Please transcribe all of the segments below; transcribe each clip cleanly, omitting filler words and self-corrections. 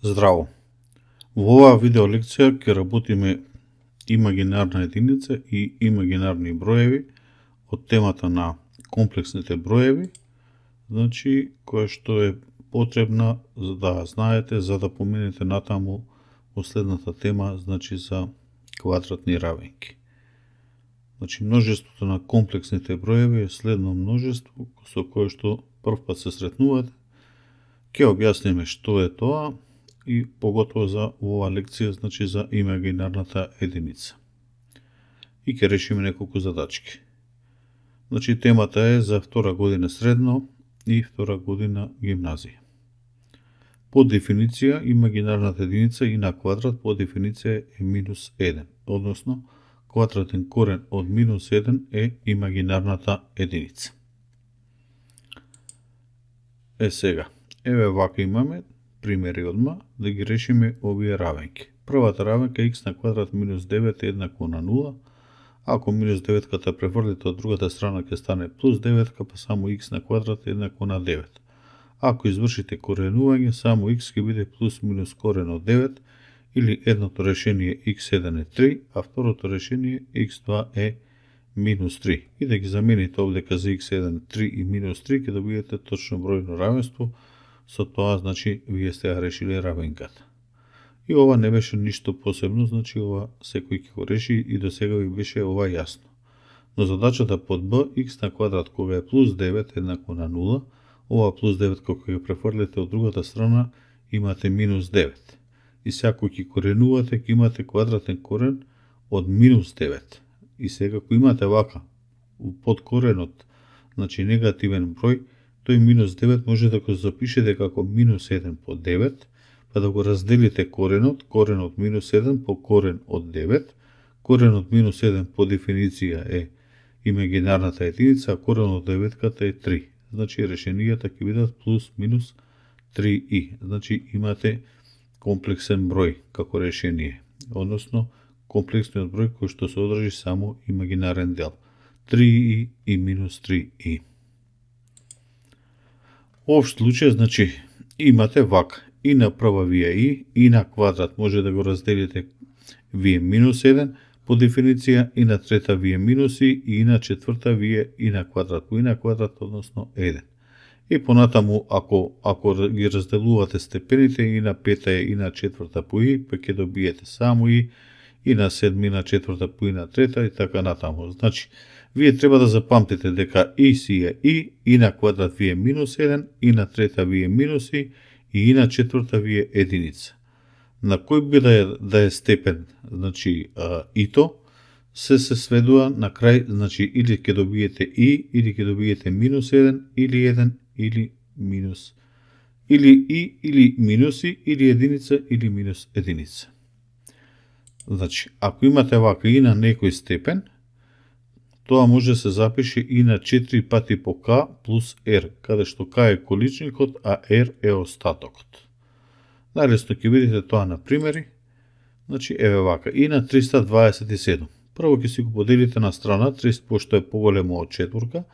Здраво! Во оваа видео лекција ќе работиме имагинарна единица и имагинарни броеви од темата на комплексните броеви, значи која што е потребна за да знаете за да поминете натаму во следната тема, значи за квадратни равенки. Значи множеството на комплексните броеви е следно множество со кое што првпат се сретнувате. Ќе објасниме што е тоа и поготово за оваа лекција, значи за имагинарната единица. И ќе решиме неколку задачки. Значи темата е за втора година средно и втора година гимназија. По дефиниција, имагинарната единица и на квадрат по дефиниција е минус 1, односно квадратен корен од минус 1 е имагинарната единица. Сега, еве вака имаме примери одма да ги решиме овие равенки. Првата равенка x на квадрат минус 9 е еднакво на 0. Ако минус 9-ката префрлите од другата страна ќе стане плюс 9, па само x на квадрат е еднакво на 9. Ако извршите коренување, само x ќе биде плюс минус корен од 9, или едното решение x1 е 3, а второто решение x2 е минус 3. И да ги замените овдека за x1 3 и минус 3, ќе добиете точно бројно равенство. Со тоа, значи, вие сте ја решили равенката. И ова не беше ништо посебно, значи ова секој ќе го реши и до сега ви беше ова јасно. Но задачата под b, x на квадрат кога е плюс 9 еднакво на 0, ова плюс 9 кога ќе префрлите од другата страна имате минус 9. И сега кога ќе коренувате, ќе имате квадратен корен од минус 9. И сега кога имате вака, под коренот, значи негативен број, тој минус 9 може да го запишете како минус 1 по 9, па да го разделите коренот минус 1 по корен од 9. Корен од минус 1 по дефиниција е имагинарната единица, а корен од 9-ката е 3. Значи решенијата ќе бидат плюс минус 3i. Значи имате комплексен број како решение, односно комплексниот број кој што се одржи само имагинарен дел. 3i и минус 3i. Општ случај, значи, имате вака, и на прва вие и на квадрат може да го разделите вие минус 1 по дефиниција, и на трета вие минуси, и на четврта вие и на квадрат по и на квадрат, односно 1. И понатаму, ако ги разделувате степените, и на пета и на четврта по и, па ќе добиете само и на седми, на четврта по и на трета, и така натаму. Значи, вие треба да запамтите дека и си е и на квадрат ви е минус 1, и на трета ви е минуси, и на четврта ви е единица. На кој би да е степен, значи ито, се сведува на крај, значи или ќе добиете и, или ќе добиете минус 1, или 1, или минус, или и, или минуси, или единица, или минус единица. Значи, ако имате вака и на некој степен, тоа може да се запише и на 4 пати по k плюс r, каде што k е количникот, а r е остатокот. Најлесно ќе видите тоа на примери. Значи, еве вака, и на 327. Прво ќе си го поделите на страна, 30 пошто е поголемо од четворка,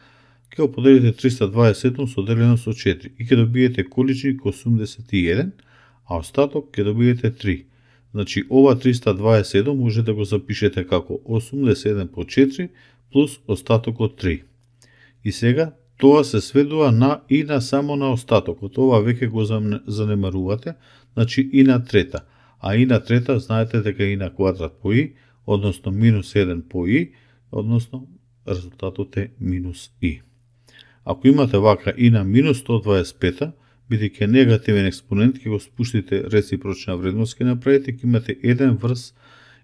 ќе го поделите 327 соделено со 4 и ќе добиете количник 81, а остаток ќе добиете 3. Значи, ова 327 може да го запишете како 81 по 4 плюс остатокот 3. И сега, тоа се сведува на и на само на остатокот. Ова веќе го занемарувате, значи и на трета. А и на трета, знаете дека и на квадрат по и, односно минус 1 по и, односно резултатот е минус и. Ако имате вака и на минус 125, бидејќи негативен експонент, ќе го спуштите реципрочна вредност, ќе направите, ќе имате 1 врз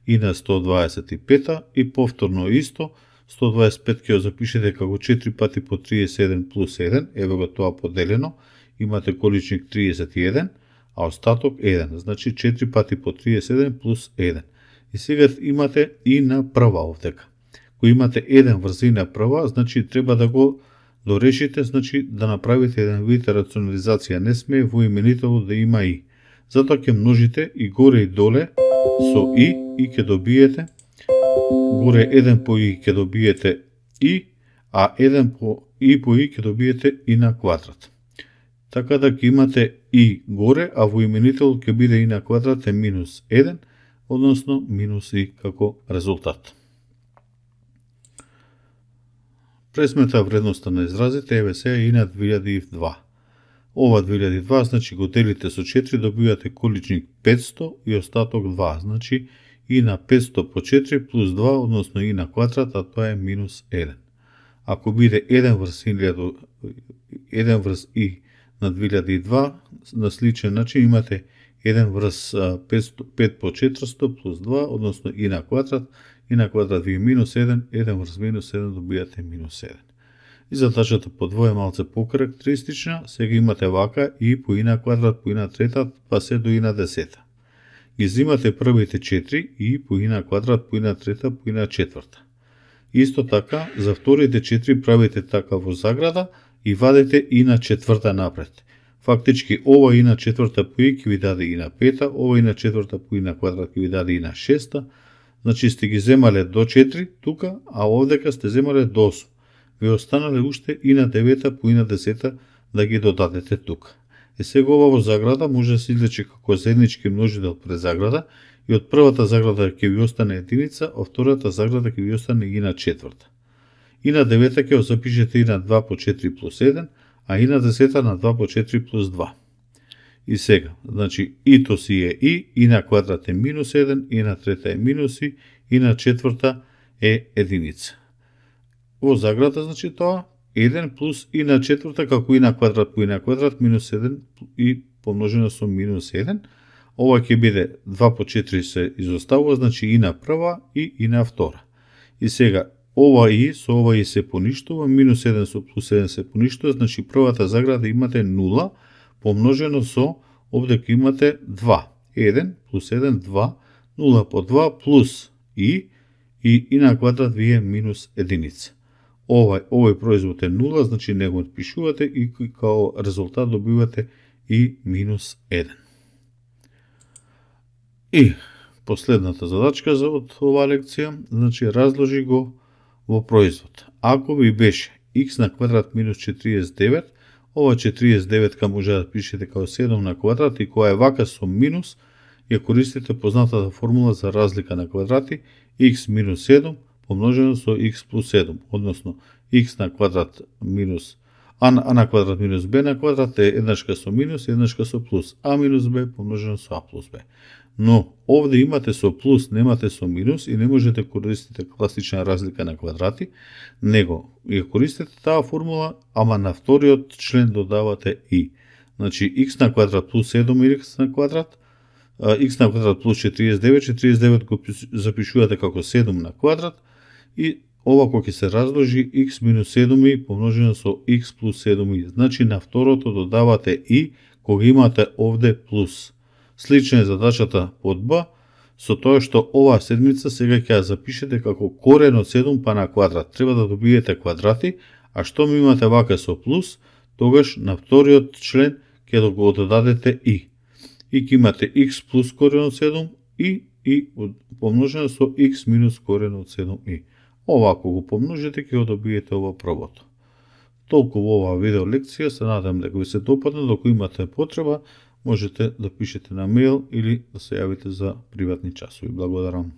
и на 125 и повторно исто, 125 ќе го запишете како 4 пати по 37 плюс 1, еве го тоа поделено, имате количник 31, а остаток 1, значи 4 пати по 37 плюс 1. И сега имате и на прва овдека. Кој имате 1 врз и на прва, значи треба да го дорешите, значи да направите еден вид рационализација. Не сме во именителот да има и. Затоа ќе множите и горе и доле со и ќе добиете горе 1 по и ќе добиете и, а 1 по и ќе добиете и на квадрат. Така да ќе имате и горе, а во именител ќе биде и на квадрат е минус 1, односно минус и како резултат. Пресмета вредноста на изразите, еве сега и на 2002. Ова 2002, значи го делите со 4, добивате количник 500 и остаток 2, значи и на 500 по 4 плюс 2, односно и на квадрат, а тоа е минус 1. Ако биде 1 врз и на 2002, на сличен начин имате 1 врз 5 по 400 плюс 2, односно и на квадрат ви е минус 1, 1 врз минус 1 добијате минус 1. И задачата по двое малце покарактеристична, сега имате вака и по и на квадрат, по и на трета, па се до и на десета. Ги взимате првите 4 и по и на квадрат, по и на трета, по и на четврта. Исто така, за вторите 4 правите така во заграда и вадите и на четврта напред. Фактички, ова и на четврта по и ќе ви даде и на пета, ова и на четврта по и на квадрат ќе ви даде и на шеста, значи сте ги земале до 4 тука, а овдека сте земале до 8. Ви останале уште и на 9 по и на 10 да ги додадете тука. Сега ова во заграда може да се излече како заеднички множител пред заграда и од првата заграда ќе ви остане единица, од втората заграда ќе ви остане и на четврта. И на 9 ќе запишете и на 2 по 4 плюс 1, а и на 10 на 2 по 4 плюс 2. И сега, значи ито си е и на квадрат е минус 1, и на трета е минус и на четврта е единица. Во заграда, значи тоа, 1 плюс и на четврта, како и на квадрат по и на квадрат, минус 1 и помножено со минус 1. Ова ќе биде 2 по 4 се изоставува, значи и на прва и на втора. И сега, ова и со ова и се поништува, минус 1 со плюс 1 се поништува, значи првата заграда имате 0, помножено со, овде ќе имате 2. 1 плюс 1, 2, 0 по 2 плюс и на квадрат ви е минус единица. Овој производ е 0, значи не го отпишувате и као резултат добивате и минус 1. И последната задачка за од оваа лекција, значи разложи го во производ. Ако ви беше x на квадрат минус 49, ова 49 може да пишете као 7 на квадрат и која е вака со минус, ја користите познатата формула за разлика на квадрати, x минус 7 помножено со x плюс 7, односно x на квадрат минус а на квадрат минус b на квадрат е еднашка со минус, еднашка со плюс, а минус b помножено со а плюс b. Но овде имате со плюс, немате со минус и не можете користите класична разлика на квадрати, него ја користите таа формула, ама на вториот член додавате и. Значи x на квадрат плюс 7 x на квадрат, x на квадрат плюс 49, 49 го запишувате како 7 на квадрат и ова кога ќе се разложи x минус 7 помножено со x плюс 7. Значи на второто додавате и кога имате овде плюс. Слична е задачата под Б, со тоа што оваа седмица сега ќе ја запишете како корен од 7 па на квадрат. Треба да добиете квадрати, а што ми имате вака со плюс, тогаш на вториот член ќе го додадете и. И ќе имате x плюс корен од 7 и помножено со x минус корен од 7 и. Ова ако го помножите ќе го добиете ова првото. Толку во оваа видео лекција, се надам дека ви се допадна, доколку имате потреба, можете да пишете на мејл или да се јавите за приватни часови. Благодарам.